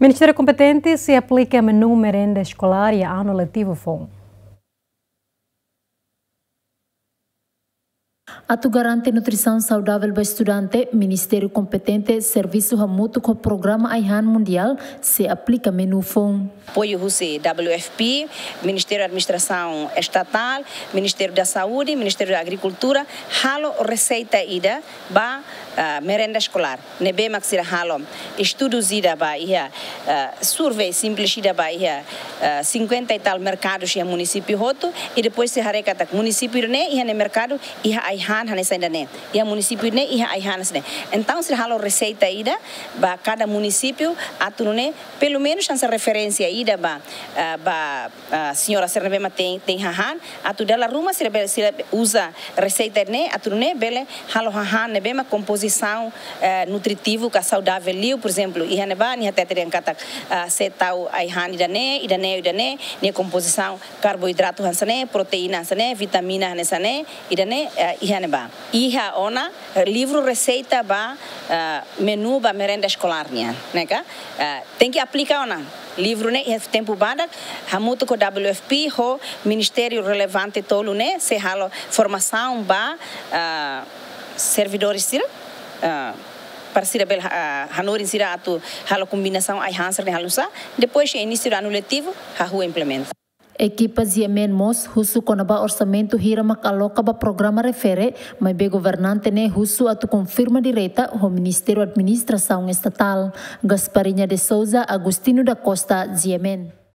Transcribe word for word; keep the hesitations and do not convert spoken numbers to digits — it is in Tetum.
Ministériu kompetente sei aplika menu merenda eskolár iha ano letivu foun. Atu garante nutrisaun saudavel ba estudante, Ministériu kompetente servisu hamutuk ho Programa Ai-han Mundiál sei aplika menu foun. Apoiu husi W F P, Ministériu Administrasaun Estatál, Ministériu da Saúde, Ministériu da Agrikultura, halo reseita ida ba, ah, merenda eskolár. Ne'ebé mak sira halo estudu ida ba iha, ah, survei simples ida ba iha, ah, cinquenta e tal merkadus iha munisípiu hotu, i depois sei haree katak munisípiu ne'e iha nia merkadu iha ai-han hanesan ida-ne'e, iha munisípiu ne'e iha ai-han hanesan ne'e. Entaun sira halo reseita ida ba kada munisípiu atu nune'e pelumenus hanesan referénsia ida ba, ah, ba, ah, señora sira ne'ebé mak tein, tein hahán, atu dala ruma sira bele, sira uza reseita ne'e atu nune'e bele halo hahán ne'ebé mak kompozisaun, eh, nutritivu ka saudavel liu, por ezemplu, iha ne'ebá nia hatete dehan katak, ah, sei tau ai-han ida-ne'e, ida-ne'e, ida-ne'e, nia kompozisaun karboidratu hanesan ne'e, proteína hanesan ne'e, vitamina hanesan ne'e, ida-ne'e, eh, iha ne'ebá. Iha ona, eh, livru reseita ba, eh, menu ba merenda eskolár nian, ne'e ka? Eh, tenke aplika ona livru ne'e iha tempu badak, hamutuk ho W F P, ho ministériu relevante tolu ne'e, sei halo formasaun ba, eh, servidores sira, eh, para sira bele, eh, hanorin sira atu halo kombinasaun ai-han sira-ne'e halo sá, depois iha inísiu de ano letivu, hahú implementa. Ekipa G M N mós husu kona-ba orsamentu hira mak aloka ba programa refere, maibé governante ne'e husu atu konfirma direta ho Ministériu Administrasaun Estatál. Gasparinha de Souza, Agostinho da Costa, G M N.